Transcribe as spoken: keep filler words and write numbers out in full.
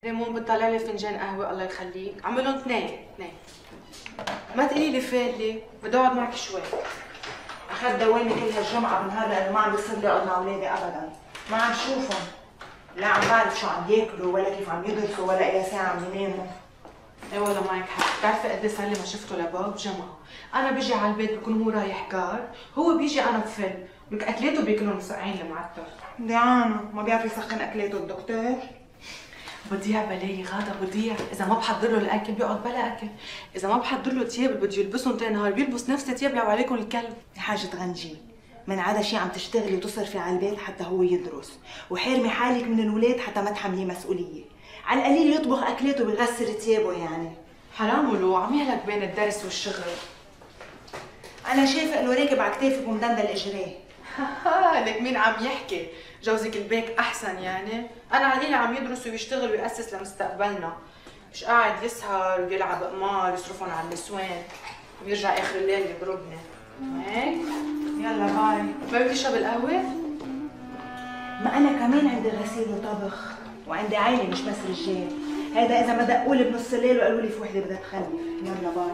ريمون بتطلع لي فنجان قهوة الله يخليك، عملهم اثنين اثنين. ما تقولي لي فادلي، بدي اقعد معك شوي. اخذت دوامي كل هالجمعة بنهار لأنه ما عم بيصير لي اقعد مع اولادي ابدا، ما عم شوفهم، لا عم بعرف شو عم ياكلوا ولا كيف عم يدرسوا ولا اي ساعة عم يناموا. ايه والله معك حق، بتعرفي قد ايه صار لي ما شفته لباب جمعة، أنا بيجي على البيت بكون هو رايح كار، هو بيجي أنا بفل، لك أكلاته بياكلهم مسقعين المعتر. ديانو ما بيعرف يسخن اكلاته الدكتور؟ بضيع بلاي غاده بضيع، إذا ما بحضر له الأكل بيقعد بلا أكل، إذا ما بحضر له تياب اللي بده يلبسهم تاني نهار بيلبس نفس التياب اللي عليكم الكلب. يا حاجة غنجي، من عدا شي عم تشتغلي وتصرفي على البيت حتى هو يدرس، وحارمي حالك من الولاد حتى ما تحمليه مسؤولية، على القليل يطبخ أكلاته ويغسل تيابه يعني. حرام ولو عم يهلك بين الدرس والشغل. أنا شايفة إنه راكب على كتافك ومدندل إجريه. لك مين عم يحكي؟ جوزك البيك أحسن يعني؟ أنا علينا عم يدرس ويشتغل ويأسس لمستقبلنا، مش قاعد يسهر ويلعب قمار ويصرفهم على النسوان ويرجع آخر الليل يضربني. هيك؟ يلا باي. ما بدي اشرب القهوة؟ ما أنا كمان عندي غسيل وطبخ، وعندي عائلة مش بس رجال، هيدا إذا ما دقوا لي بنص الليل وقالوا لي في وحدة بدها تخلف. يلا باي.